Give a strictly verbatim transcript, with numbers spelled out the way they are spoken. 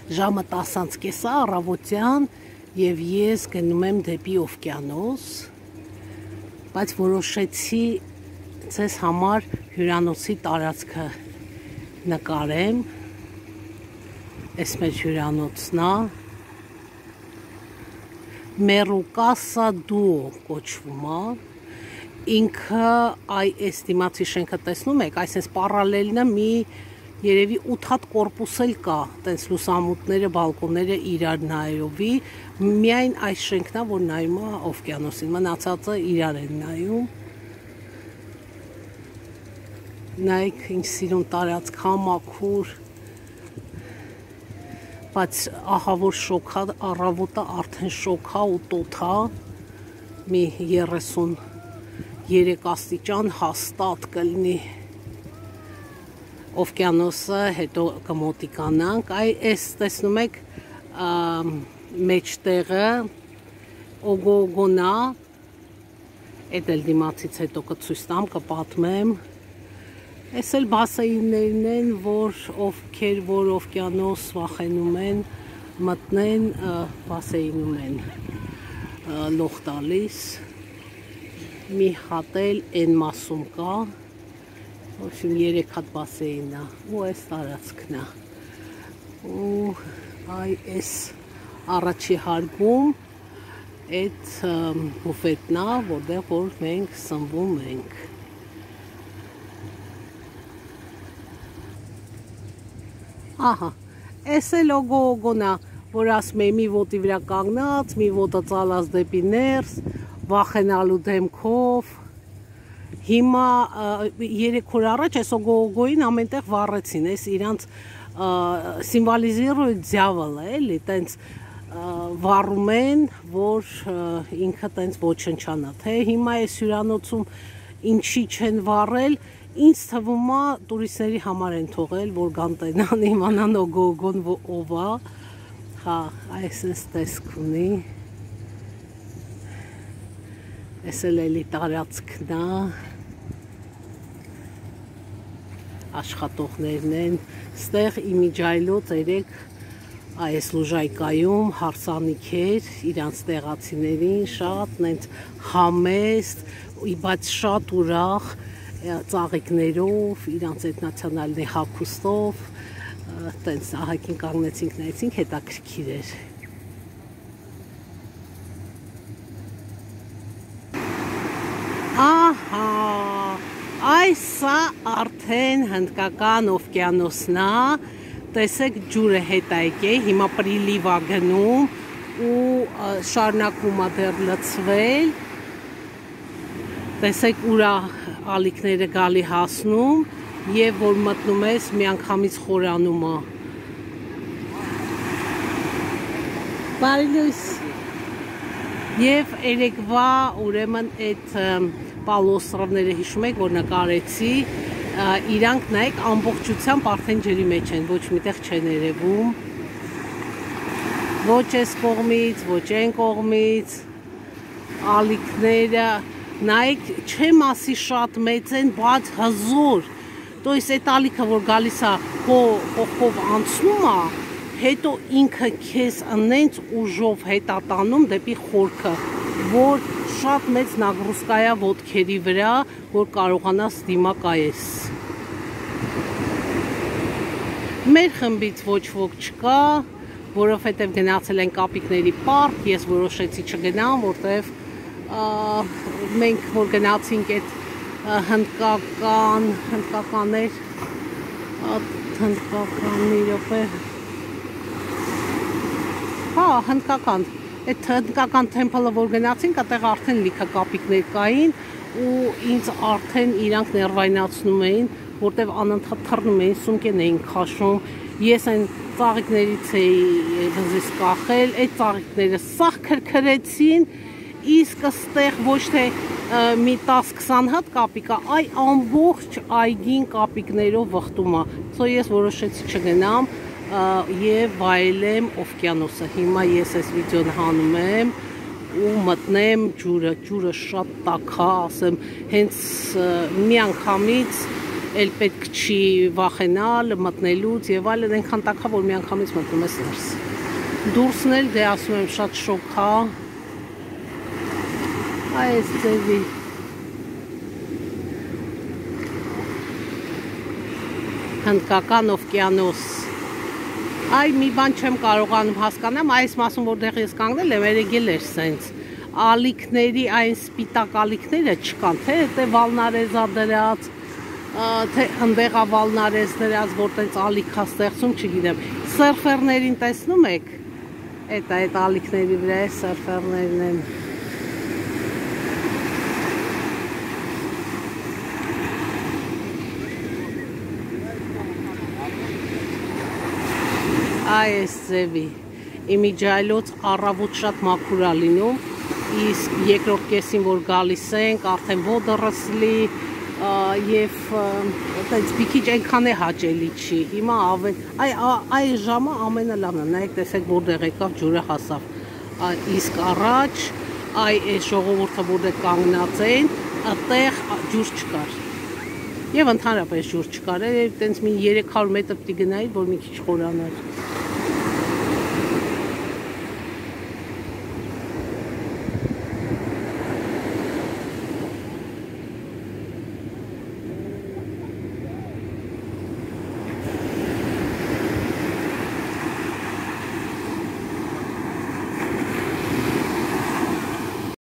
Ժամը տասանց կեսա առավոտյան և ես գնում եմ դեպի օվկիանոս, բայց որոշեցի ձեզ համար հյուրանոցի տարածքը նկարեմ, այս մեր հյուրանոցն է, Մերուկասա դուո կոչվում է, ինքը այս դիմացի շենքը տեսնում եք, այսպես պարալելն է մի երևի ութ հատ կորպուս էլ կա, տենց լուսամուտները, բալկոնները իրար նայովի, միայն այս շենքն է, որ նայում է օվկիանոսին, մնացածը իրար են նայում։ Նայեք, ինչ սիրուն տարածք, համաքուր, բայց ահա որ շոքա, առավոտը արդեն շոքա ու տոթա, մի երեսուն երեք աստիճան հաստատ կլինի օվկիանոսը, հետո կմոտիկանանք, այս տեսնում եք մեջտեղը օգոգոնա, էդ էլ դիմացից հետո կցույց տամ, կպատմեմ, այս էլ բասեիններն են, որ ովքեր որ օվկիանոս վախենում են, մտնեն, բասեինում են լող տալիս, մի հատ էլ են մասում կա, Ոչմ երեք հատ բասեին է, ու այս տարածքն է, ու այ այս առաջի հարգում այդ բուֆետնա, որտեղ որ մենք սնվում ենք։ Ահա, այս էլ օգոգոնն է, որ ասում է մի ոտի վրա կանգնած, մի ոտը ծալած դեպի ներս, վախենալու դեմքով, Հիմա երեք օր առաջ այս օգոգոին ամենտեղ վառեցին, այս իրանց սիմվոլիզիրույթ ձյավըլը էլի, տենց վառում են, որ ինքը տենց ոչնչանա, թե հիմա այս հյուրանոցում ինչի չեն վառել, ինձ թվում է տուրիստների համար են թողել, որ գան տենան, իմանան օգոգոն ով է, հա, այս էս տեսք ունի, այս էլ էլի տարածքն է, աշխատողներն են, ստեղ իմիջայլոց երեք այս լուժայկայում հարսանիք էր, իրանց տեղացիներին շատ նենց համեստ, բայց շատ ուրախ ծաղիկներով, իրանց այդ նացիոնալնի հագուստով, տենց ահագին կանգնեցինք նայեցինք, հետաքրքիր էր։ Ահա, այսա արդեն հնդկական օվկիանոսն է, տեսեք ջուրը հետ է եկել, հիմա պրիլիվ է գնում ու շարունակվում է դեռ լցվել, տեսեք ուրա ալիքները գալի հասնում և որ մտնում ես միանգամից խորանում է։ Բարի լույս։ Եվ երեկվա ուրեմն այդ պալոստրովները հիշում եք, որ նկարեցի, իրանք նայեք ամբողջությամբ արդեն ջրի մեջ են, ոչ միտեղ չեն երևում, ոչ այս կողմից, ոչ այն կողմից, ալիքները, նայեք չեմ ասի շատ մեծ են, բայց հզոր, то есть այդ ալիքը, որ գալիս է կողքով անցնում է, հետո ինքը քեզ նենց ուժով հետատանում դեպի խորքը, որ շատ մեծ նագրուսկայա ոտքերի վրա, որ կարողանաս դիմակայես։ Մեր խմբից ոչ ոք չկա, որովհետև գնացել են կապիկների պարկ, ես որոշեցի չգնամ, որտև մենք որ գնացինք այդ հնդկական, հնդկականներ, հնդկական մի րոպե, հա, հնդկական, այդ հնդկական թեմպլը, որ գնացինք, այդտեղ արդեն լիքը կապիկներ կային ու ինձ արդեն իրանք ներվայնացնում էին, որտև անընդհատ թռնում էին, սումկեն էին քաշում, ես այն ծաղիկներից էի բզիս կախել, այդ ծաղիկները սաղ քրքրեցին, իսկ ստեղ ոչ թե մի տասը քսան հատ կապիկա, այ ամբողջ այգին կապիկներով վխտում է, սո ես որոշեցի չգնամ և վայելեմ օվկիանոսը, հիմա ես այս վիդեոն հանում եմ ու մտնեմ ջուրը, ջուրը շատ տաք է, ասեմ, հենց մի անգամից էլ պետք չի վախենալ մտնելուց եւ այլն, այնքան տակա, որ միանգամից մտնում ես ներս։ Դուրսն էլ դե ասում եմ շատ շոկ է։ Այս ձևի Հնդկական օվկիանոս։ Այ մի բան չեմ կարողանում հասկանամ, այս մասում որտեղ ես կանգնել եմ, երեգել էր սենց։ Ալիքների այն սպիտակ ալիքները չկան, թե դե վալնարեզա դրած, թե ընդեղա վալնարեզ դրած, որ տենց ալիքա ստեղծում, չգիտեմ։ Սերֆերներին տեսնում եք, էդ այդ ալիքների վրա է սերֆերներն են։ Այս ձևի իմիջայլոց առավոտ շատ մաքուր է լինում, իսկ երկրորդ կեսին որ գալիս ենք, արդեն ոդռսլի եւ այդպես մի քիչ այնքան է հաճելի չի։ Հիմա ավել այ այ ժամը ամենալավն է, նայեք տեսեք որտեղ եկավ ջուրը հասավ։ Իսկ առաջ այ այս ժողովուրդը որտեղ կանգնած են, այդտեղ ջուր չկար։ Եվ ընդհանրապես ջուր չկար, այդտենց մի երեք հարյուր մետր պիտի գնայի, որ մի քիչ խորանար։